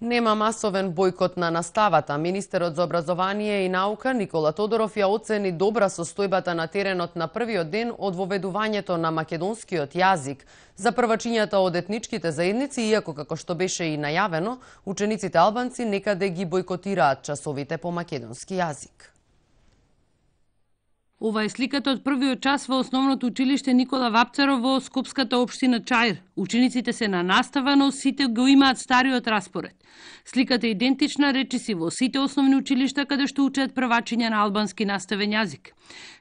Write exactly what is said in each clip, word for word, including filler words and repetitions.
Нема масовен бојкот на наставата. Министерот за образование и наука Никола Тодоров ја оцени добра состојбата на теренот на првиот ден од воведувањето на македонскиот јазик за првачињата од етничките заедници, иако како што беше и најавено, учениците албанци некаде ги бојкотираат часовите по македонски јазик. Ова е сликата од првиот час во основното училиште Никола Вапцаров во Скопската општина Чаир. Учениците се на настава, но сите го имаат стариот распоред. Сликата е идентична, речиси, во сите основни училишта каде што учат првачиња на албански наставен јазик.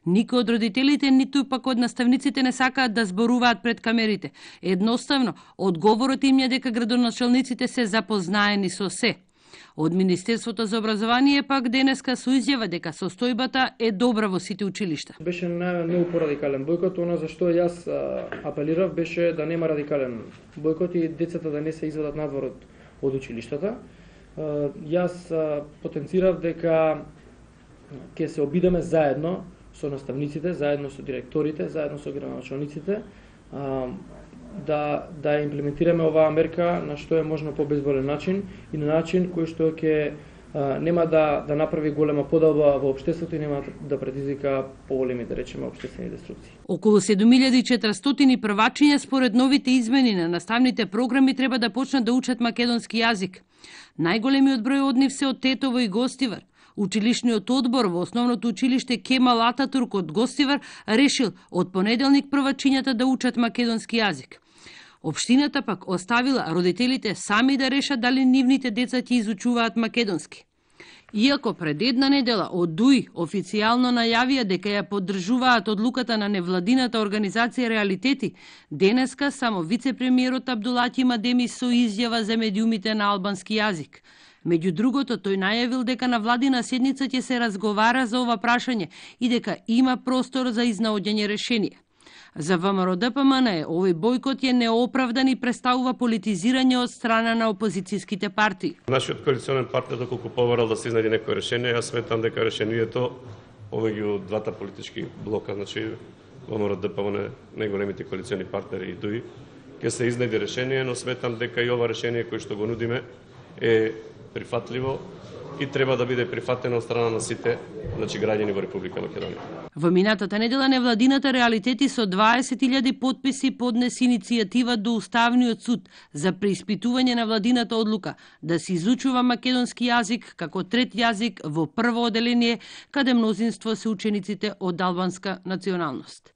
Никој од родителите, ниту пак од наставниците не сакаат да зборуваат пред камерите. Едноставно, одговорот им е дека градоначалниците се запознаени со се. Од Министерството за образование пак денеска со изјава дека состојбата е добра во сите училишта. Беше најавен многу порадикален бојкот, она за што јас апелирав беше да нема радикален бојкот и децата да не се извадат надвор од, од училиштата. Јас потенцирав дека ќе се обидеме заедно со наставниците, заедно со директорите, заедно со градоначалниците, да да имплементираме оваа мерка на што е можно побезболен начин и на начин кој што ќе нема да да направи голема подалба во општеството и нема да предизвика поголеми, да речеме, општествени деструкции. Околу седум илјади и четиристотини првачиња според новите измени на наставните програми треба да почнат да учат македонски јазик. Најголемиот број од нив се од Тетово и Гостивар. Училишниот одбор во основното училиште Кемал Ататурк од Гостивар решил од понеделник првачињата да учат македонски јазик. Општината пак оставила родителите сами да решат дали нивните деца ќе изучуваат македонски. Иако пред една недела од ДУИ официјално најавија дека ја поддржуваат одлуката на невладината организација Реалитети, денеска само вице-премиерот Абдулати Мадеми со изјава за медиумите на албански јазик. Меѓу другото, тој најавил дека на владина седница ќе се разговара за ова прашање и дека има простор за изнаоѓање решение. За ВМРО-ДПМН овој бојкот е неоправдан и представува политизирање од страна на опозицијските партии. Нашиот коалиционен партнер доколку побарал да се изнајде некој решение, јас сметам дека решението повеќе од двата политички блока, значи ВМРО-ДПМН, најголемите коалициони партнери и ДУИ, ќе се изнајде решение, но сметам дека и ова решение кој што го нудиме е прифатливо и треба да биде прифатено од страна на сите, значи, граѓани во Република Македонија. Во минатата недела невладината Реалитети со дваесет илјади потписи поднесе иницијатива до Уставниот суд за преиспитување на владината одлука да се изучува македонски јазик како трет јазик во прво оделение каде мнозинство се учениците од албанска националност.